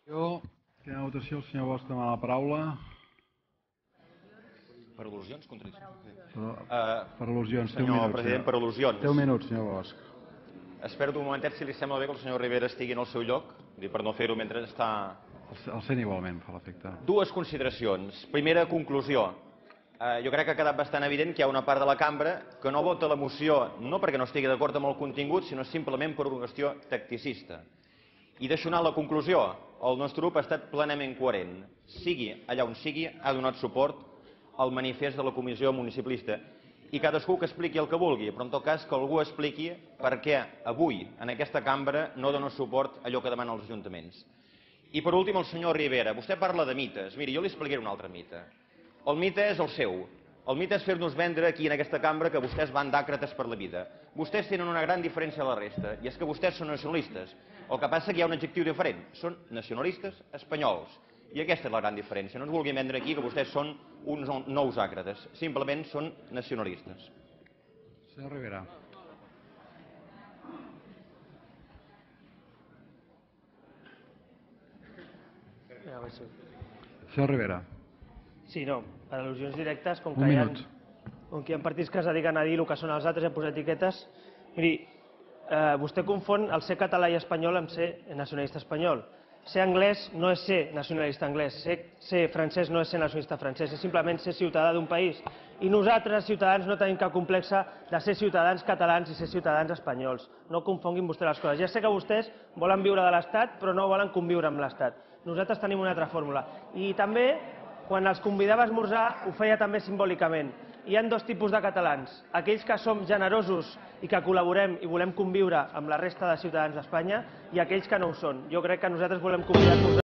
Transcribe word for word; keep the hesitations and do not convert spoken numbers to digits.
Jo, que a votació el senyor Bosch demana la paraula. Per al·lusions? Contradiccions? Per, Uh, per al·lusions, té un senyor minut. president, per al·lusions. Té un minut, senyor Bosch. Espero un momentet si li sembla bé que el senyor Rivera estigui en el seu lloc, per no fer-ho mentre està... El sent igualment, fa l'efecte. Dues consideracions. Primera conclusió. Uh, jo crec que ha quedat bastant evident que hi ha una part de la cambra que no vota la moció no perquè no estigui d'acord amb el contingut, sinó simplement per una qüestió tacticista. I deixo anar la conclusió. El nostre grup ha estat plenament coherent. Sigui allà on sigui, ha donat suport al manifest de la Comissió Municipalista. I cadascú que expliqui el que vulgui, però en tot cas que algú expliqui per què avui en aquesta cambra no dona suport a allò que demanen els ajuntaments. I per últim el senyor Rivera. Vostè parla de mites. Miri, jo li explicaré un altre mite. El mite és el seu. El mite és fer-nos vendre aquí en aquesta cambra que vostès van d'àcrates per la vida. Vostès tenen una gran diferència de la resta, i és que vostès són nacionalistes. El que passa és que hi ha un adjectiu diferent. Són nacionalistes espanyols. I aquesta és la gran diferència. No ens vulguin vendre aquí que vostès són uns nous àcrates. Simplement són nacionalistes. Senyor Rivera. Senyor Rivera. Sí, no, per al·lusions directes, com Un que, hi ha, minut. com que hi ha partits que es dediquen a dir el que són els altres i a posar etiquetes, miri, eh, vostè confon el ser català i espanyol amb ser nacionalista espanyol. Ser anglès no és ser nacionalista anglès, ser, ser francès no és ser nacionalista francès, és simplement ser ciutadà d'un país. I nosaltres, ciutadans, no tenim cap complex de ser ciutadans catalans i ser ciutadans espanyols. No confonguin vostès les coses. Ja sé que vostès volen viure de l'Estat, però no volen conviure amb l'Estat. Nosaltres tenim una altra fórmula. I també, quan els convidava a esmorzar, ho feia també simbòlicament. Hi ha dos tipus de catalans, aquells que som generosos i que col·laborem i volem conviure amb la resta de ciutadans d'Espanya i aquells que no ho són. Jo crec que nosaltres volem convidar-nos